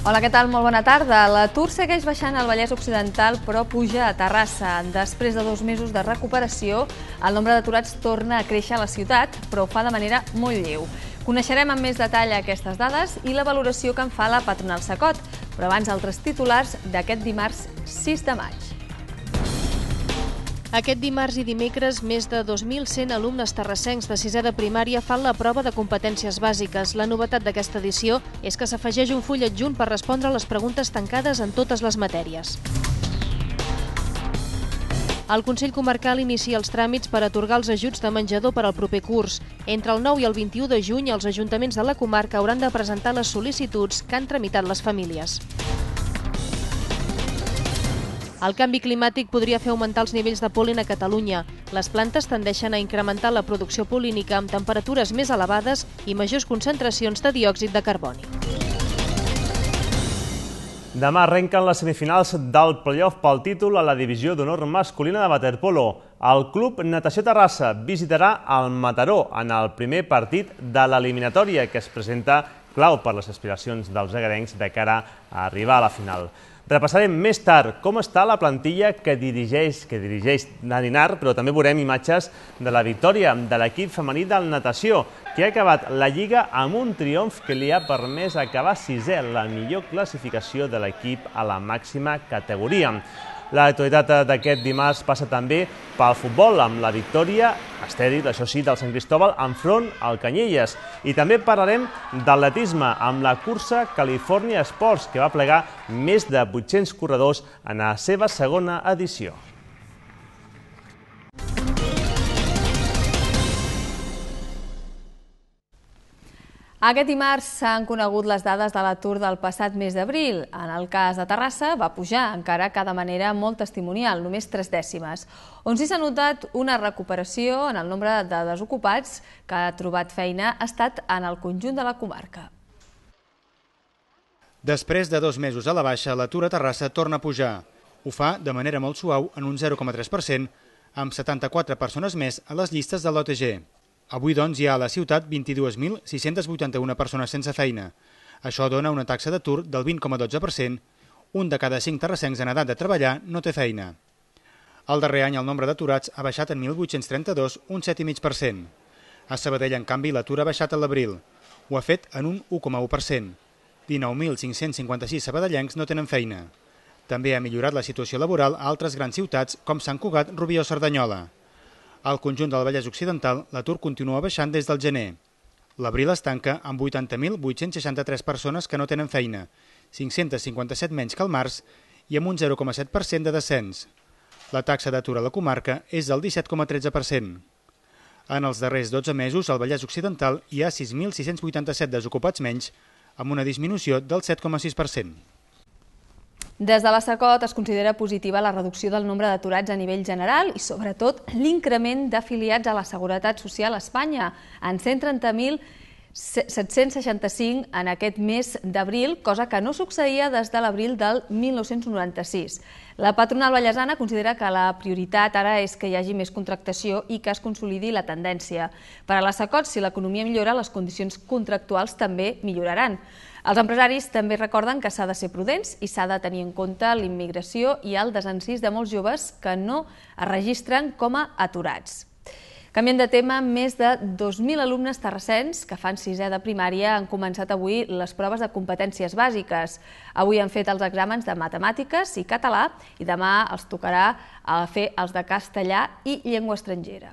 Hola, què tal? Molt bona tarda. L'atur segueix baixant al Vallès Occidental, però puja a Terrassa. Després de 2 mesos de recuperació, el nombre d'aturats torna a créixer a la ciutat, però ho fa de manera molt lleu. Coneixerem amb més detall aquestes dades i la valoració que en fa la patronal Cecot, però abans altres titulars d'aquest dimarts 6 de maig. Aquest dimarts i dimecres, més de 2.100 alumnes terrassencs de 6è de primària fan la prova de competències bàsiques. La novetat d'aquesta edició és que s'afegeix un full adjunt per respondre a les preguntes tancades en totes les matèries. El Consell Comarcal inicia els tràmits per atorgar els ajuts de menjador per al proper curs. Entre el 9 i el 21 de juny, els ajuntaments de la comarca hauran de presentar les sol·licituds que han tramitat les famílies. El canvi climàtic podria fer augmentar els nivells de pol·len a Catalunya. Les plantes tendeixen a incrementar la producció pol·línica amb temperatures més elevades i majors concentracions de diòxid de carboni. Demà arrenquen les semifinals del play-off pel títol a la divisió d'honor masculina de waterpolo. El Club Natació Terrassa visitarà el Mataró en el primer partit de l'eliminatòria que es presenta clau per les aspiracions dels egarencs de cara a arribar a la final. Repassarem més tard com està la plantilla que dirigeix Dani Nar, però també veurem imatges de la victòria de l'equip femení del natació, que ha acabat la Lliga amb un triomf que li ha permès acabar 6è, la millor classificació de l'equip a la màxima categoria. L'actualitat d'aquest dimarts passa també pel futbol, amb la victòria estèril, això sí, del Sant Cristóbal enfront al Canyelles. I també parlarem d'atletisme amb la cursa California Sports, que va plegar més de 800 corredors en la seva segona edició. Aquest dimarts s'han conegut les dades de l'atur del passat mes d'abril. En el cas de Terrassa va pujar, encara que de manera molt testimonial, només 3 dècimes. On sí s'ha notat una recuperació en el nombre de desocupats que ha trobat feina ha estat en el conjunt de la comarca. Després de 2 mesos a la baixa, l'atur a Terrassa torna a pujar. Ho fa de manera molt suau en un 0,3%, amb 74 persones més a les llistes de l'OTG. Avui, doncs, hi ha a la ciutat 22.681 persones sense feina. Això dona una taxa d'atur del 20,12%. Un de cada 5 terrassencs en edat de treballar no té feina. El darrer any el nombre d'aturats ha baixat en 1.832, un 7,5%. A Sabadell, en canvi, l'atur ha baixat a l'abril. Ho ha fet en un 1,1%. 19.556 sabadellencs no tenen feina. També ha millorat la situació laboral a altres grans ciutats com Sant Cugat, Rubí o Cerdanyola. Al conjunt del Vallès Occidental, l'atur continua baixant des del gener. L'abril es tanca amb 80.863 persones que no tenen feina, 557 menys que al març i amb un 0,7% de descens. La taxa d'atur a la comarca és del 17,13%. En els darrers 12 mesos, al Vallès Occidental hi ha 6.687 desocupats menys, amb una disminució del 7,6%. Des de la Cecot es considera positiva la reducció del nombre d'aturats a nivell general i, sobretot, l'increment d'afiliats a la Seguretat Social a Espanya, en 130.765 en aquest mes d'abril, cosa que no succeïa des de l'abril del 1996. La patronal vallesana considera que la prioritat ara és que hi hagi més contractació i que es consolidi la tendència. Per a la Cecot, si l'economia millora, les condicions contractuals també milloraran. Els empresaris també recorden que s'ha de ser prudents i s'ha de tenir en compte l'immigració i el desencís de molts joves que no es registren com a aturats. Canviant de tema, més de 2.000 alumnes terrassens que fan 6è de primària han començat avui les proves de competències bàsiques. Avui han fet els exàmens de matemàtiques i català i demà els tocarà fer els de castellà i llengua estrangera.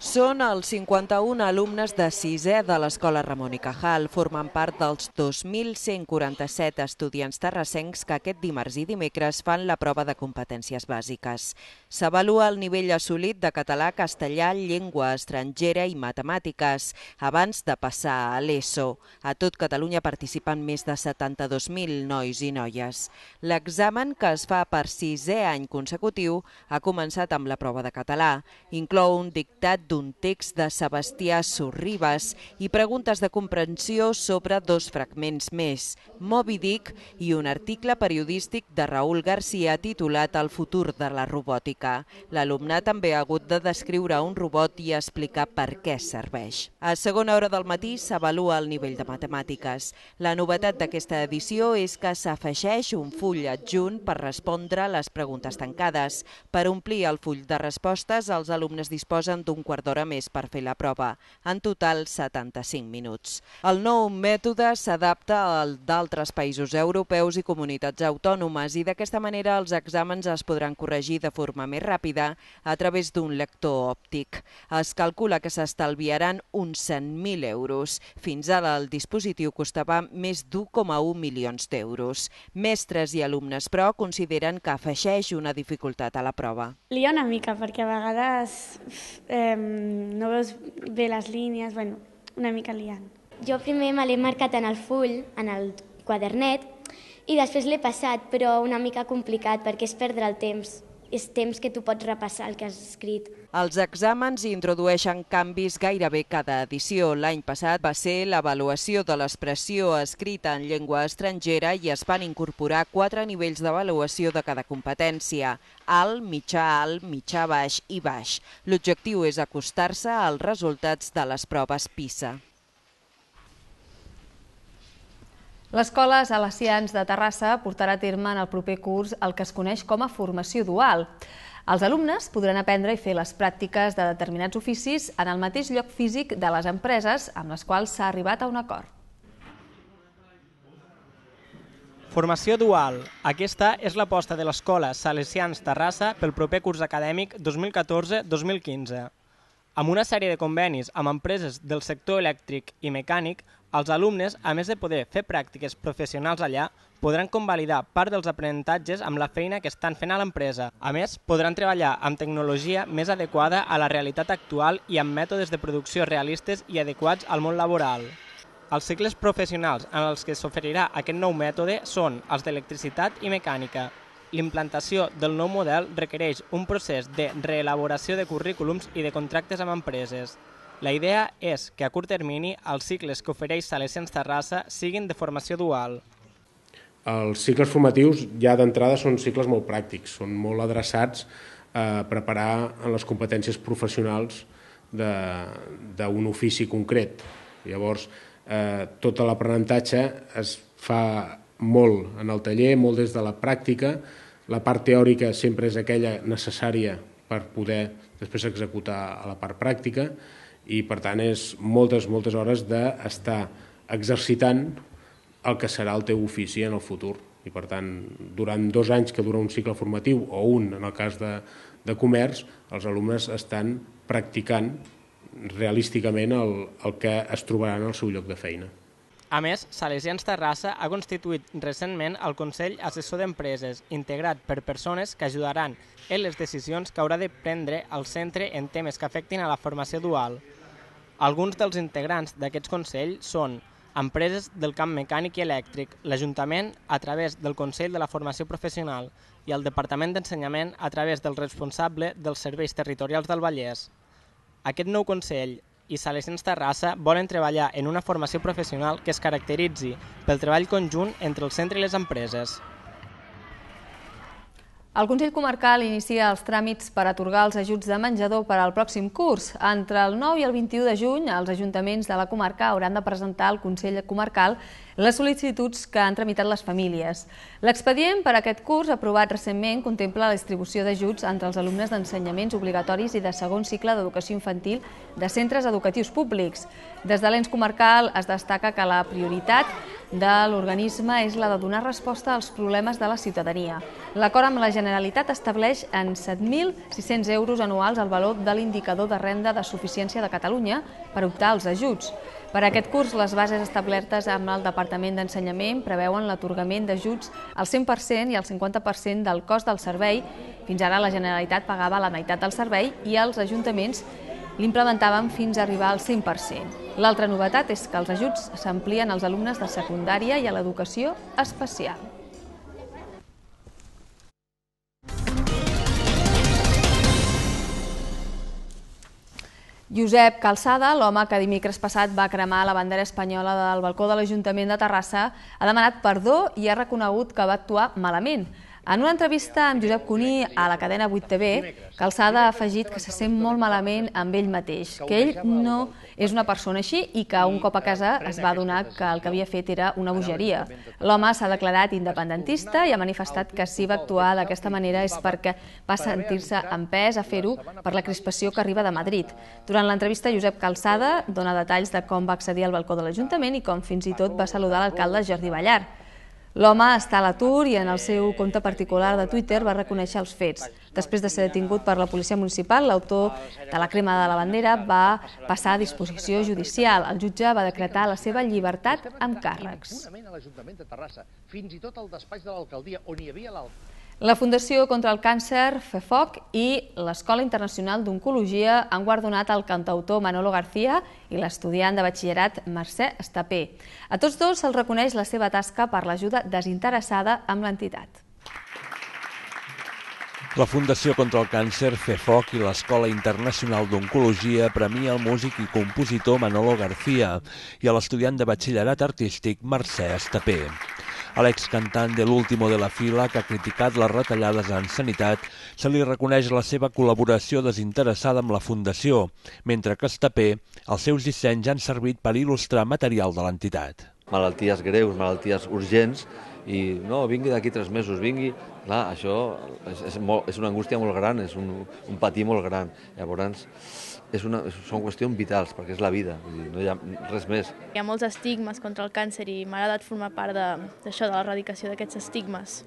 Són els 51 alumnes de 6è de l'Escola Ramon i Cajal. Formen part dels 2.147 estudiants terrassencs que aquest dimarts i dimecres fan la prova de competències bàsiques. S'avalua el nivell assolit de català, castellà, llengua estrangera i matemàtiques abans de passar a l'ESO. A tot Catalunya participen més de 72.000 nois i noies. L'examen, que es fa per 6è any consecutiu, ha començat amb la prova de català. Inclou un dictat d'un text de Sebastià Sorribas i preguntes de comprensió sobre 2 fragments més, Moby Dick i un article periodístic de Raúl García titulat El futur de la robòtica. L'alumne també ha hagut de descriure un robot i explicar per què serveix. A segona hora del matí s'avalua el nivell de matemàtiques. La novetat d'aquesta edició és que s'afegeix un full adjunt per respondre les preguntes tancades. Per omplir el full de respostes, els alumnes disposen d'un quart d'hora més per fer la prova. En total, 75 minuts. El nou mètode s'adapta al d'altres països europeus i comunitats autònomes i d'aquesta manera els exàmens es podran corregir de forma més ràpida a través d'un lector òptic. Es calcula que s'estalviaran uns 100.000 euros. Fins ara el dispositiu costava més d'1,1 milions d'euros. Mestres i alumnes, però, consideren que afegeix una dificultat a la prova. Lia una mica, perquè a vegades no veus bé les línies, una mica liant. Jo primer me l'he marcat en el full, en el quadernet, i després l'he passat, però una mica complicat, perquè és perdre el temps. És temps que tu pots repassar el que has escrit. Els exàmens introdueixen canvis gairebé cada edició. L'any passat va ser l'avaluació de l'expressió escrita en llengua estrangera i es van incorporar 4 nivells d'avaluació de cada competència: alt, mitjà baix i baix. L'objectiu és acostar-se als resultats de les proves PISA. L'Escola Salesians de Terrassa portarà a terme en el proper curs el que es coneix com a formació dual. Els alumnes podran aprendre i fer les pràctiques de determinats oficis en el mateix lloc físic de les empreses amb les quals s'ha arribat a un acord. Formació dual. Aquesta és l'aposta de l'Escola Salesians Terrassa pel proper curs acadèmic 2014-2015. Amb una sèrie de convenis amb empreses del sector elèctric i mecànic, els alumnes, a més de poder fer pràctiques professionals allà, podran convalidar part dels aprenentatges amb la feina que estan fent a l'empresa. A més, podran treballar amb tecnologia més adequada a la realitat actual i amb mètodes de producció realistes i adequats al món laboral. Els cicles professionals en els que s'oferirà aquest nou mètode són els d'electricitat i mecànica. L'implantació del nou model requereix un procés de reelaboració de currículums i de contractes amb empreses. La idea és que a curt termini els cicles que ofereix Salesians Terrassa siguin de formació dual. Els cicles formatius ja d'entrada són cicles molt pràctics, són molt adreçats a preparar en les competències professionals d'un ofici concret. Llavors, tot l'aprenentatge es fa molt en el taller, molt des de la pràctica. La part teòrica sempre és aquella necessària per poder després executar a la part pràctica i, per tant, és moltes hores d'estar exercitant el que serà el teu ofici en el futur. I, per tant, durant 2 anys que dura un cicle formatiu, o un, en el cas de comerç, els alumnes estan practicant realísticament el que es trobaran al seu lloc de feina. A més, Salesians Terrassa ha constituït recentment el Consell Assessor d'Empreses, integrat per persones que ajudaran en les decisions que haurà de prendre el centre en temes que afectin a la formació dual. Alguns dels integrants d'aquests consells són empreses del camp mecànic i elèctric, l'Ajuntament a través del Consell de la Formació Professional i el Departament d'Ensenyament a través del responsable dels serveis territorials del Vallès. Aquest nou Consell i Salesians Terrassa volen treballar en una formació professional que es caracteritzi pel treball conjunt entre el centre i les empreses. El Consell Comarcal inicia els tràmits per atorgar els ajuts de menjador per al pròxim curs. Entre el 9 i el 21 de juny, els ajuntaments de la comarca hauran de presentar al Consell Comarcal les sol·licituds que han tramitat les famílies. L'expedient per a aquest curs, aprovat recentment, contempla la distribució d'ajuts entre els alumnes d'ensenyaments obligatoris i de segon cicle d'educació infantil de centres educatius públics. Des de l'ens comarcal es destaca que la prioritat de l'organisme és la de donar resposta als problemes de la ciutadania. L'acord amb la Generalitat estableix en 7.600 euros anuals el valor de l'indicador de renda de suficiència de Catalunya per optar als ajuts. Per a aquest curs, les bases establertes amb el Departament d'Ensenyament preveuen l'atorgament d'ajuts al 100% i al 50% del cost del servei. Fins ara la Generalitat pagava la meitat del servei i els ajuntaments l'implementaven fins a arribar al 100%. L'altra novetat és que els ajuts s'amplien als alumnes de secundària i a l'educació especial. Josep Calçada, l'home que dimecres passat va cremar la bandera espanyola del balcó de l'Ajuntament de Terrassa, ha demanat perdó i ha reconegut que va actuar malament. En una entrevista amb Josep Cuní a la cadena 8TV, Calçada ha afegit que se sent molt malament amb ell mateix, que ell no és una persona així i que un cop a casa es va adonar que el que havia fet era una bogeria. L'home s'ha declarat independentista i ha manifestat que si va actuar d'aquesta manera és perquè va sentir-se empès a fer-ho per la crispació que arriba de Madrid. Durant l'entrevista, Josep Calçada dona detalls de com va accedir al balcó de l'Ajuntament i com fins i tot va saludar l'alcalde Jordi Ballar. L'home està a l'atur i en el seu compte particular de Twitter va reconèixer els fets. Després de ser detingut per la policia municipal, l'autor de la crema de la bandera va passar a disposició judicial. El jutge va decretar la seva llibertat amb càrrecs. La Fundació contra el Càncer, FEFOC, i l'Escola Internacional d'Oncologia han guardonat el cantautor Manolo García i l'estudiant de batxillerat Mercè Estapé. A tots dos se'ls reconeix la seva tasca per l'ajuda desinteressada amb l'entitat. La Fundació contra el Càncer, FEFOC, i l'Escola Internacional d'Oncologia premia el músic i compositor Manolo García i a l'estudiant de batxillerat artístic Mercè Estapé. A l'excantant de l'Último de la Fila, que ha criticat les retallades en sanitat, se li reconeix la seva col·laboració desinteressada amb la Fundació, mentre que Estapé, els seus dissenys han servit per il·lustrar material de l'entitat. Malalties greus, malalties urgents, i no, vingui d'aquí 3 mesos, vingui... Clar, això és una angústia molt gran, és un patir molt gran. Llavors, són qüestions vitals, perquè és la vida, no hi ha res més. Hi ha molts estigmes contra el càncer i m'ha agradat formar part d'això, de l'erradicació d'aquests estigmes.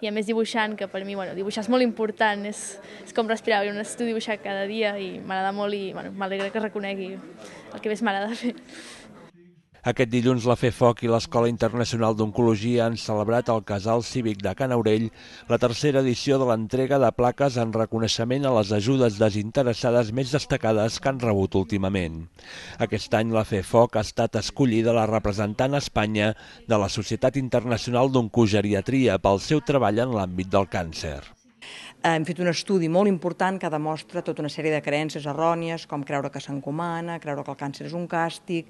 I a més dibuixant, que per mi dibuixar és molt important, és com respirar, jo necessito dibuixar cada dia i m'agrada molt i m'alegra que reconegui el que més m'agrada fer. Aquest dilluns la FEFOC i l'Escola Internacional d'Oncologia han celebrat al Casal Cívic de Can Aurell la 3a edició de l'entrega de plaques en reconeixement a les ajudes desinteressades més destacades que han rebut últimament. Aquest any la FEFOC ha estat escollida la representant a Espanya de la Societat Internacional d'Oncogeriatria pel seu treball en l'àmbit del càncer. Hem fet un estudi molt important que demostra tota una sèrie de creences errònies, com creure que s'encomana, creure que el càncer és un càstig,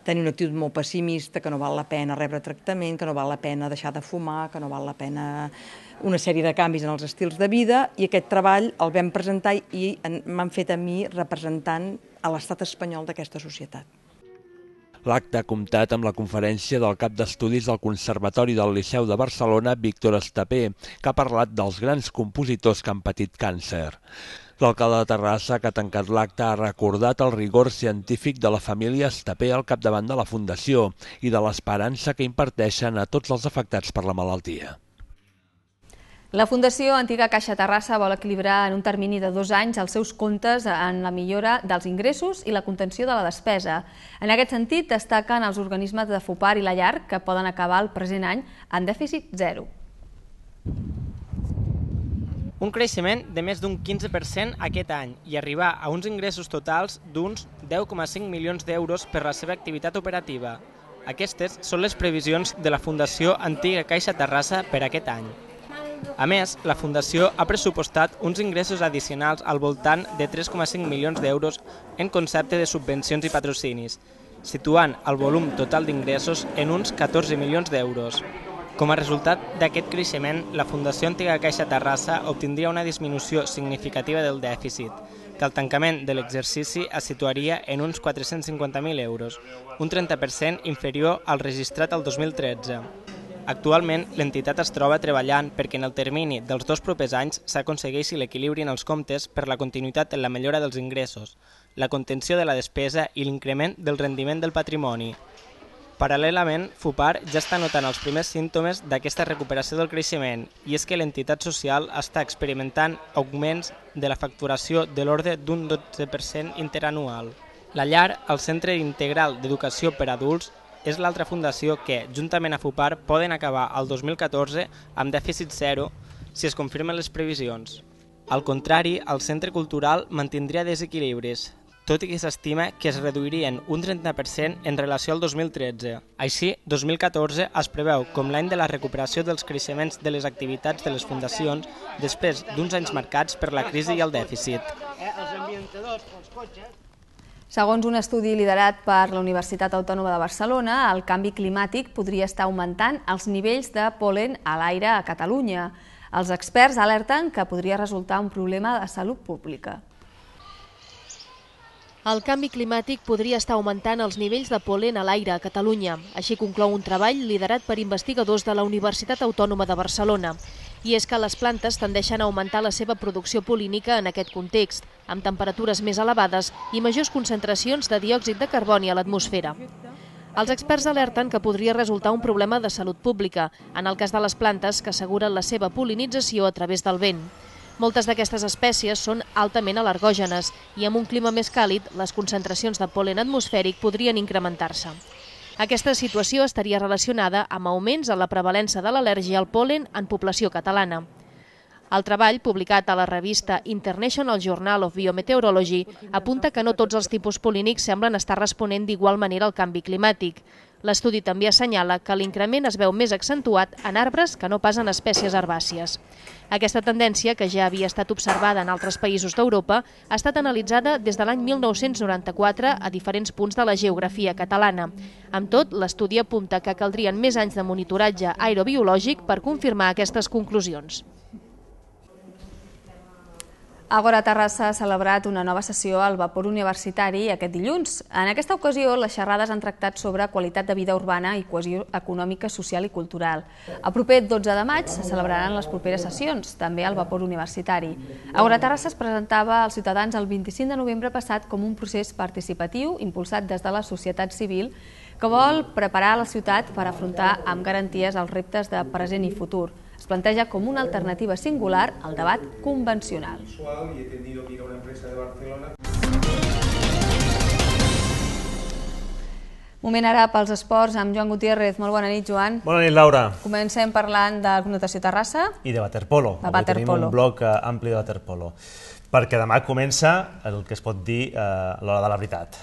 tenir una actitud molt pessimista, que no val la pena rebre tractament, que no val la pena deixar de fumar, que no val la pena una sèrie de canvis en els estils de vida, i aquest treball el vam presentar i m'han fet a mi representant a l'estat espanyol d'aquesta societat. L'acte ha comptat amb la conferència del cap d'estudis del Conservatori del Liceu de Barcelona, Víctor Estapé, que ha parlat dels grans compositors que han patit càncer. L'alcalde de Terrassa, que ha tancat l'acte, ha recordat el rigor científic de la família Estapé al capdavant de la Fundació i de l'esperança que imparteixen a tots els afectats per la malaltia. La Fundació Antiga Caixa Terrassa vol equilibrar en un termini de 2 anys els seus comptes en la millora dels ingressos i la contenció de la despesa. En aquest sentit, destaquen els organismes de FUPAR i la Llar, que poden acabar el present any en dèficit zero. Un creixement de més d'un 15% aquest any i arribar a uns ingressos totals d'uns 10,5 milions d'euros per la seva activitat operativa. Aquestes són les previsions de la Fundació Antiga Caixa Terrassa per aquest any. A més, la Fundació ha pressupostat uns ingressos addicionals al voltant de 3,5 milions d'euros en concepte de subvencions i patrocinis, situant el volum total d'ingressos en uns 14 milions d'euros. Com a resultat d'aquest creixement, la Fundació Antiga Caixa Terrassa obtindria una disminució significativa del dèficit, que al tancament de l'exercici es situaria en uns 450.000 euros, un 30% inferior al registrat el 2013. Actualment, l'entitat es troba treballant perquè en el termini dels 2 propers anys s'aconsegueixi l'equilibri en els comptes per la continuïtat en la millora dels ingressos, la contenció de la despesa i l'increment del rendiment del patrimoni. Paral·lelament, FUPAR ja està notant els primers símptomes d'aquesta recuperació del creixement i és que l'entitat social està experimentant augments de la facturació de l'ordre d'un 12% interanual. La Llar, el Centre Integral d'Educació per Adults, és l'altra fundació que, juntament a FUPAR, poden acabar el 2014 amb dèficit zero si es confirmen les previsions. Al contrari, el Centre Cultural mantindria desequilibris, tot i que s'estima que es reduirien un 30% en relació al 2013. Així, 2014 es preveu com l'any de la recuperació dels creixements de les activitats de les fundacions després d'uns anys marcats per la crisi i el dèficit. Els ambientadors pels cotxes... Segons un estudi liderat per la Universitat Autònoma de Barcelona, el canvi climàtic podria estar augmentant els nivells de pol·len a l'aire a Catalunya. Els experts alerten que podria resultar un problema de salut pública. El canvi climàtic podria estar augmentant els nivells de pol·len a l'aire a Catalunya. Així conclou un treball liderat per investigadors de la Universitat Autònoma de Barcelona. I és que les plantes tendeixen a augmentar la seva producció pol·línica en aquest context, amb temperatures més elevades i majors concentracions de diòxid de carboni a l'atmosfera. Els experts alerten que podria resultar un problema de salut pública, en el cas de les plantes que asseguren la seva pol·linització a través del vent. Moltes d'aquestes espècies són altament al·lergògenes i amb un clima més càlid, les concentracions de pol·len atmosfèric podrien incrementar-se. Aquesta situació estaria relacionada amb augments en la prevalença de l'al·lèrgia al pol·len en població catalana. El treball, publicat a la revista International Journal of Biometeorology, apunta que no tots els tipus pol·línics semblen estar responent d'igual manera al canvi climàtic. L'estudi també assenyala que l'increment es veu més accentuat en arbres que no pas en espècies herbàcies. Aquesta tendència, que ja havia estat observada en altres països d'Europa, ha estat analitzada des de l'any 1994 a diferents punts de la geografia catalana. Amb tot, l'estudi apunta que caldrien més anys de monitoratge aerobiològic per confirmar aquestes conclusions. Agora Terrassa ha celebrat una nova sessió al Vapor Universitari aquest dilluns. En aquesta ocasió, les xerrades han tractat sobre qualitat de vida urbana i cohesió econòmica, social i cultural. El proper 12 de maig se celebraran les properes sessions, també al Vapor Universitari. Agora Terrassa es presentava als ciutadans el 25 de novembre passat com un procés participatiu impulsat des de la societat civil que vol preparar la ciutat per afrontar amb garanties els reptes de present i futur. Es planteja com una alternativa singular al debat convencional. Moment ara pels esports amb Joan Gutiérrez. Molt bona nit, Joan. Bona nit, Laura. Comencem parlant de Natació Terrassa. I de waterpolo. Avui tenim un bloc ampli de waterpolo. Perquè demà comença el que es pot dir l'hora de la veritat.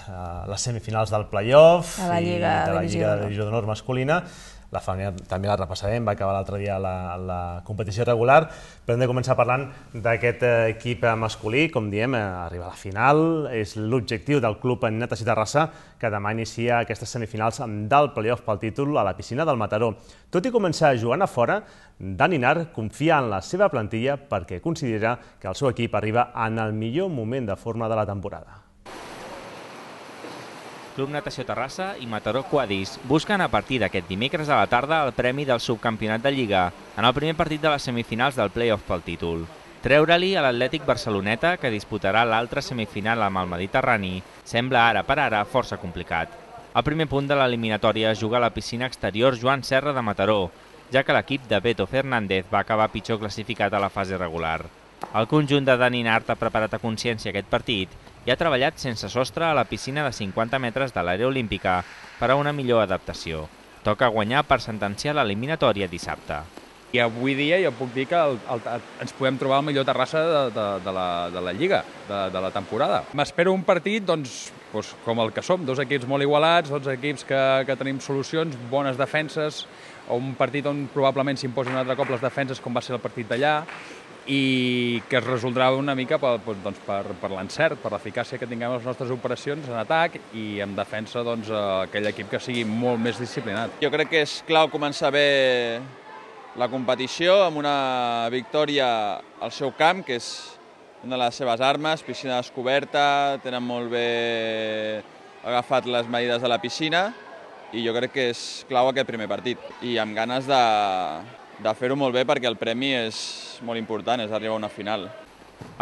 Les semifinals del play-off i de la Lliga de Divisió d'Honor masculina. La femenina també la repassarem, va acabar l'altre dia la competició regular, però hem de començar parlant d'aquest equip masculí, com diem, arriba a la final, és l'objectiu del club Natació Terrassa, que demà inicia aquestes semifinals del play-off pel títol a la piscina del Mataró. Tot i començar jugant a fora, Dani Nart confia en la seva plantilla perquè considera que el seu equip arriba en el millor moment de forma de la temporada. Club Natació Terrassa i Mataró Quadis busquen a partir d'aquest dimecres a la tarda el premi del subcampionat de Lliga en el primer partit de les semifinals del play-off pel títol. Treure-li a l'Atlètic Barceloneta, que disputarà l'altra semifinal amb el Mediterrani, sembla ara per ara força complicat. El primer punt de l'eliminatòria es juga a la piscina exterior Joan Serra de Mataró, ja que l'equip de Beto Fernández va acabar pitjor classificat a la fase regular. El conjunt de Dani Nart ha preparat a consciència aquest partit i ha treballat sense sostre a la piscina de 50 metres de l'àrea olímpica per a una millor adaptació. Toca guanyar per sentenciar l'eliminatòria dissabte. I avui dia jo puc dir que ens podem trobar el millor Terrassa de la Lliga, de la temporada. M'espero un partit com el que som, dos equips molt igualats, dos equips que tenim solucions, bones defenses, o un partit on probablement s'imposen un altre cop les defenses com va ser el partit d'allà, i que es resoldrà una mica per l'encert, per l'eficàcia que tinguem les nostres operacions en atac i en defensa aquell equip que sigui molt més disciplinat. Jo crec que és clau començar bé la competició amb una victòria al seu camp, que és una de les seves armes, piscina descoberta, tenen molt bé agafat les medides de la piscina i jo crec que és clau aquest primer partit i amb ganes de fer-ho molt bé perquè el premi és molt important, és arribar a una final.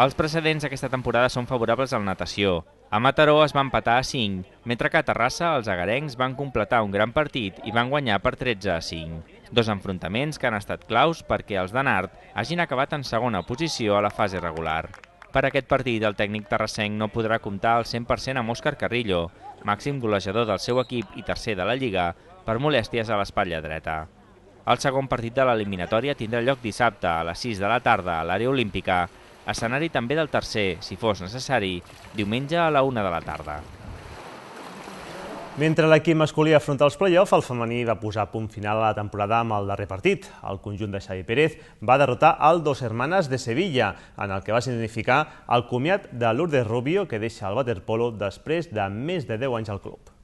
Els precedents d'aquesta temporada són favorables al natació. A Mataró es va empatar a 5, mentre que a Terrassa els agarencs van completar un gran partit i van guanyar per 13-5. Dos enfrontaments que han estat claus perquè els de Nart hagin acabat en segona posició a la fase regular. Per aquest partit, el tècnic terrassenc no podrà comptar al 100% amb Òscar Carrillo, màxim golejador del seu equip i tercer de la Lliga, per molèsties a l'espatlla dreta. El segon partit de l'eliminatòria tindrà lloc dissabte a les 6 de la tarda a l'àrea olímpica, escenari també del tercer, si fos necessari, diumenge a la 1 de la tarda. Mentre l'equip masculí afronta els play-off, el femení va posar punt final a la temporada amb el darrer partit. El conjunt de Xavi Pérez va derrotar el Dos Hermanas de Sevilla, en el que va significar el comiat de Lourdes Rubio, que deixa el waterpolo després de més de 10 anys al club.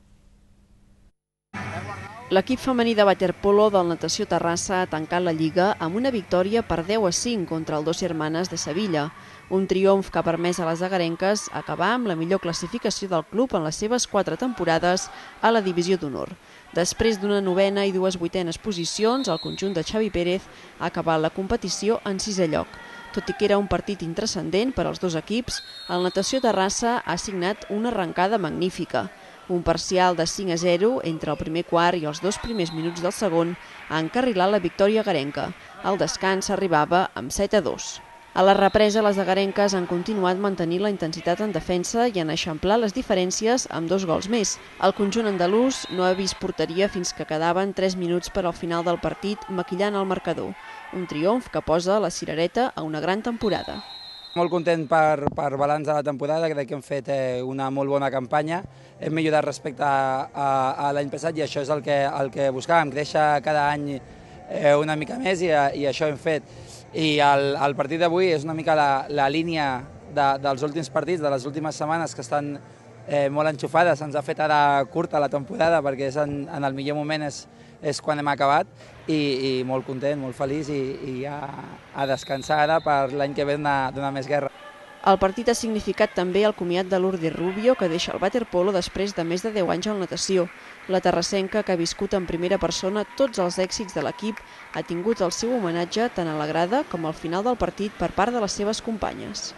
L'equip femení de waterpolo del Natació Terrassa ha tancat la Lliga amb una victòria per 10-5 contra el Dos Hermanas de Sevilla. Un triomf que ha permès a les agarenques acabar amb la millor classificació del club en les seves 4 temporades a la Divisió d'Honor. Després d'una 9a i 2 8enes posicions, el conjunt de Xavi Pérez ha acabat la competició en 6è lloc. Tot i que era un partit intranscendent per als dos equips, el Natació Terrassa ha signat una arrencada magnífica. Un parcial de 5-0 entre el primer quart i els 2 primers minuts del segon ha encarrilat la victòria agarenca. Al descans s'arribava amb 7-2. A la represa, les agarenques han continuat mantenint la intensitat en defensa i han eixamplat les diferències amb 2 gols més. El conjunt andalús no ha vist porteria fins que quedaven 3 minuts per al final del partit, maquillant el marcador. Un triomf que posa la cirereta a una gran temporada. Molt content per balanç de la temporada, crec que hem fet una molt bona campanya. Hem millorat respecte a l'any passat i això és el que buscàvem, créixer cada any una mica més i això hem fet. I el partit d'avui és una mica la línia dels últims partits, de les últimes setmanes que estan molt enxufades. Ens ha fet ara curta la temporada perquè en el millor moment és quan hem acabat i molt content, molt feliç i a descansar ara per l'any que ve donar més guerra. El partit ha significat també el comiat de Lourdes Rubio, que deixa el waterpolo després de més de 10 anys en natació. La terrassenca, que ha viscut en primera persona tots els èxits de l'equip, ha tingut el seu homenatge tant a la grada com al final del partit per part de les seves companyes.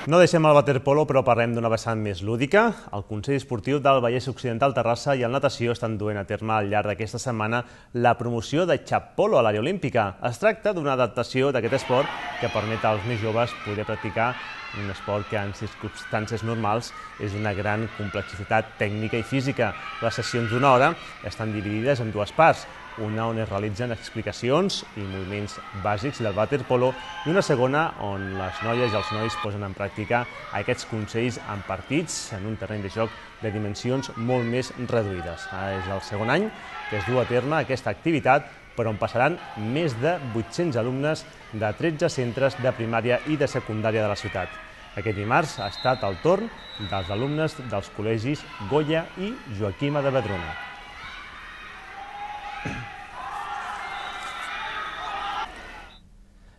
No deixem el waterpolo, però parlem d'una vessant més lúdica. El Consell Esportiu del Vallès Occidental Terrassa i el Natació estan duent a terme al llarg d'aquesta setmana la promoció de xap-polo a l'àrea olímpica. Es tracta d'una adaptació d'aquest esport que permet als més joves poder practicar un esport que en circumstàncies normals és una gran complexitat tècnica i física. Les sessions d'una hora estan dividides en 2 parts, una on es realitzen explicacions i moviments bàsics del waterpolo i una segona on les noies i els nois posen en pràctica aquests consells en partits en un terreny de joc de dimensions molt més reduïdes. És el segon any que es du a terme aquesta activitat, per on passaran més de 800 alumnes de 13 centres de primària i de secundària de la ciutat. Aquest dimarts ha estat el torn dels alumnes dels col·legis Goya i Joaquima de Vedruna.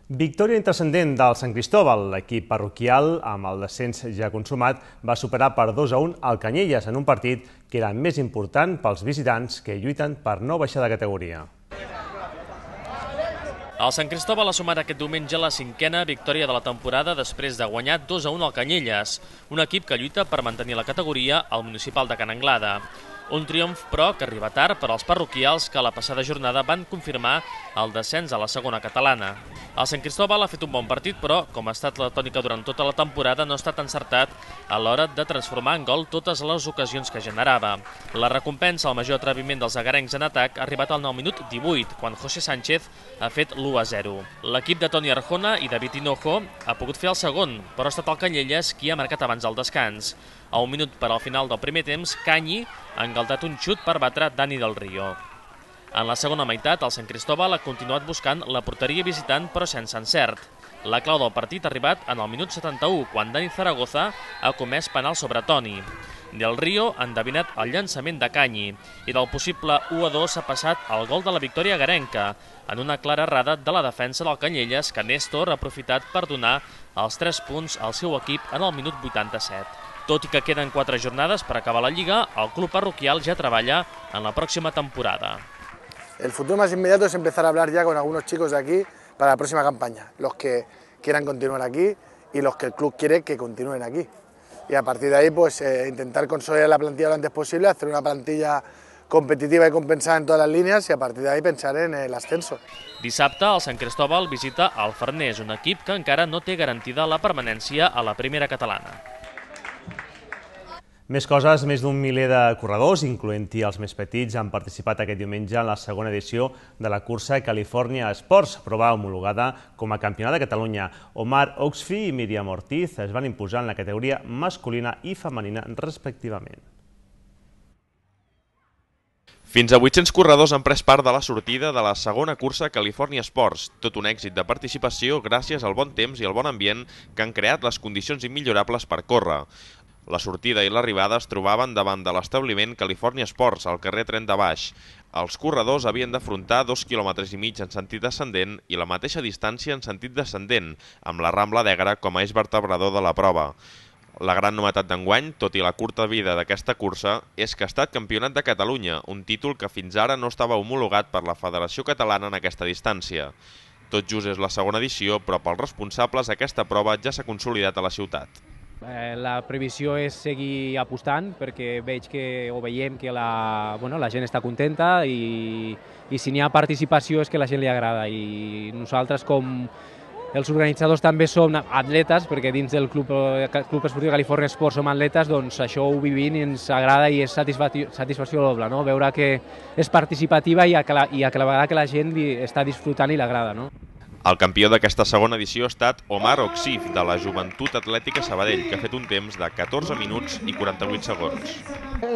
Victòria intrascendent del Sant Cristóbal. L'equip parroquial, amb el descens ja consumat, va superar per 2-1 el Canyelles en un partit que era més important pels visitants que lluiten per no baixar de categoria. El Sant Cristóbal ha sumat aquest diumenge la 5a victòria de la temporada després de guanyar 2-1 al Canyelles, un equip que lluita per mantenir la categoria al municipal de Can Anglada. Un triomf, però, que arriba tard per als parroquials que la passada jornada van confirmar el descens a la segona catalana. El Sant Cristóbal ha fet un bon partit, però, com ha estat la tònica durant tota la temporada, no ha estat encertat a l'hora de transformar en gol totes les ocasions que generava. La recompensa al major atreviment dels agarencs en atac ha arribat al 9 minut 18, quan José Sánchez ha fet l'1-0. L'equip de Toni Arjona i David Hinojo ha pogut fer el segon, però ha estat el Canyelles qui ha marcat abans del descans. A 1 minut per al final del primer temps, Canyi ha engaltat un xut per batre Dani del Río. En la segona meitat, el Sant Cristóbal ha continuat buscant la porteria visitant, però sense encert. La clau del partit ha arribat en el minut 71, quan Dani Zaragoza ha comès penal sobre Toni. Del Río ha endevinat el llançament de Canyi i del possible 1-2 s'ha passat al gol de la victòria agarenca, en una clara errada de la defensa del Canyelles, que Néstor ha aprofitat per donar els 3 punts al seu equip en el minut 87. Tot i que queden 4 jornades per acabar la Lliga, el club parroquial ja treballa en la pròxima temporada. El futuro más inmediato es empezar a hablar ya con algunos chicos de aquí para la próxima campaña, los que quieran continuar aquí y los que el club quiere que continúen aquí. Y a partir de ahí pues intentar consolidar la plantilla lo antes posible, hacer una plantilla competitiva i compensada en totes les línies i a partir d'ahí pensar en l'ascenso. Dissabte, el Sant Cristóbal visita el Farners, un equip que encara no té garantida la permanència a la primera catalana. Més coses, més d'un miler de corredors, incloent-hi els més petits, han participat aquest diumenge en la segona edició de la cursa California Sports, prova homologada com a Campionat de Catalunya. Omar Oxfi i Míriam Ortiz es van imposar en la categoria masculina i femenina respectivament. Fins a 800 corredors han pres part de la sortida de la segona cursa California Sports, tot un èxit de participació gràcies al bon temps i al bon ambient que han creat les condicions immillorables per córrer. La sortida i l'arribada es trobaven davant de l'establiment California Sports, al carrer Tren de Baix. Els corredors havien d'afrontar 2,5 quilòmetres en sentit ascendent i la mateixa distància en sentit descendent, amb la Rambla d'Egra com a eix vertebrador de la prova. La gran novetat d'enguany, tot i la curta vida d'aquesta cursa, és que ha estat Campionat de Catalunya, un títol que fins ara no estava homologat per la Federació Catalana en aquesta distància. Tot just és la segona edició, però pels responsables aquesta prova ja s'ha consolidat a la ciutat. La previsió és seguir apostant perquè veiem que la gent està contenta i si n'hi ha participació és que a la gent li agrada. I nosaltres, com els organitzadors, també som atletes, perquè dins del Club Esportiu California Sports som atletes, doncs això ho vivim i ens agrada i és satisfacció doble, no? Veure que és participativa i a la vegada que la gent està disfrutant i l'agrada, no? El campió d'aquesta segona edició ha estat Omar Oxif, de la Joventut Atlètica Sabadell, que ha fet un temps de 14 minuts y 48 segundos.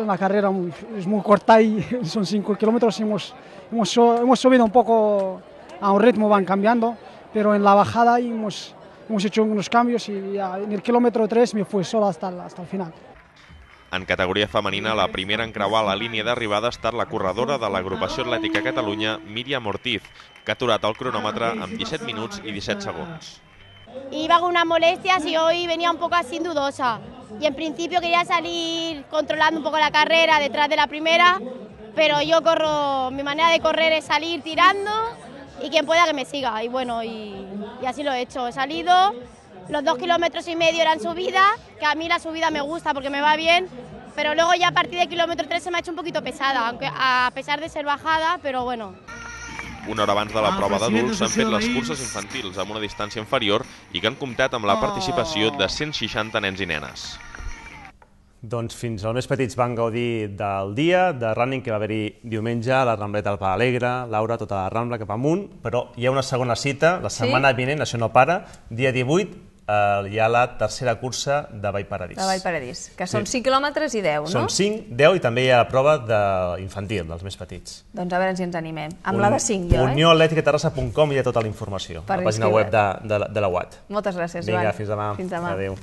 La carrera es muy corta y son 5 kilómetros. Hemos subido un poco a un ritmo, van cambiando, pero en la bajada hemos hecho unos cambios y en el kilómetro 3 me fui solo hasta el final. En categoria femenina, la primera en creuar la línia d'arribada ha estat la corredora de l'Agrupació Atlètica Catalunya, Míriam Ortiz, que ha aturat el cronòmetre amb 17 minuts y 17 segundos. Iba con unas molestias y hoy venía un poco así dudosa. Y en principio quería salir controlando un poco la carrera detrás de la primera, pero mi manera de correr es salir tirando y quien pueda que me siga. Y bueno, y así lo he hecho. He salido, los 2,5 kilómetros eran subida, que a mí la subida me gusta porque me va bien, pero luego ya a partir del kilómetro 3 se me ha hecho un poquito pesada, aunque a pesar de ser bajada, pero bueno. Una hora abans de la prova d'adults s'han fet les curses infantils amb una distància inferior i que han comptat amb la participació de 160 nens i nenes. Doncs fins als més petits van gaudir del dia de running que va haver-hi diumenge a la Rambleta del Pla Alegre, Laura, tota la Rambla cap amunt, però hi ha una segona cita, la setmana vinent, això no para, dia 18, hi ha la tercera cursa de Vallparadís. De Vallparadís, que són 5 quilòmetres i 10, no? Són 5, 10 i també hi ha la prova infantil, dels més petits. Doncs a veure si ens animem. Amb la de 5, jo, unioatleticaterrassa.com hi ha tota la informació, a la pàgina web de la UAT. Moltes gràcies, Joan. Vinga, fins demà. Fins demà. Adéu.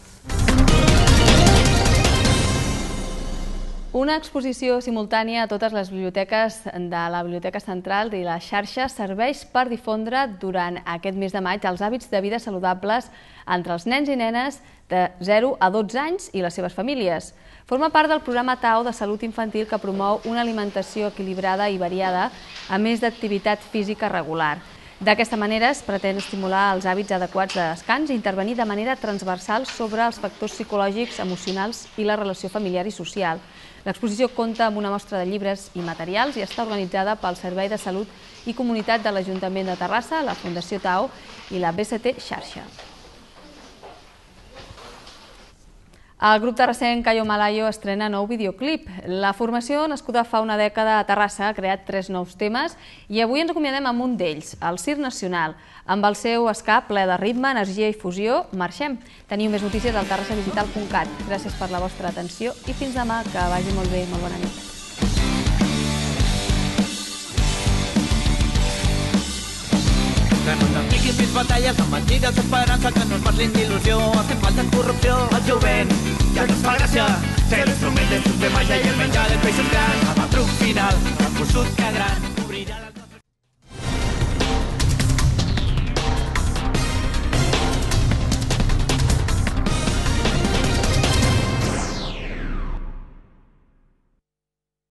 Una exposició simultània a totes les biblioteques de la Biblioteca Central i la xarxa serveix per difondre durant aquest mes de maig els hàbits de vida saludables entre els nens i nenes de 0 a 12 anys i les seves famílies. Forma part del programa TAO de salut infantil que promou una alimentació equilibrada i variada, a més d'activitat física regular. D'aquesta manera es pretén estimular els hàbits adequats de descans i intervenir de manera transversal sobre els factors psicològics, emocionals i la relació familiar i social. L'exposició compta amb una mostra de llibres i materials i està organitzada pel Servei de Salut i Comunitat de l'Ajuntament de Terrassa, la Fundació TAO i la BCT Xarxa. El grup terrassenc Cayo Malayo estrena nou videoclip. La formació, nascuda fa una dècada a Terrassa, ha creat 3 nous temes i avui ens acomiadem amb un d'ells, el Circ Nacional. Amb el seu ska ple de ritme, energia i fusió, marxem. Teniu més notícies al terrassadigital.cat. Gràcies per la vostra atenció i fins demà, que vagi molt bé, molt bona nit. Que no t'apliquin més batalles amb mentides d'esperança, que no es parlin d'il·lusió, estem falten corrupció. El jovent ja no es fa gràcia, ser l'instrument del sistema ja i el menjar dels peixos grans. Amb el truc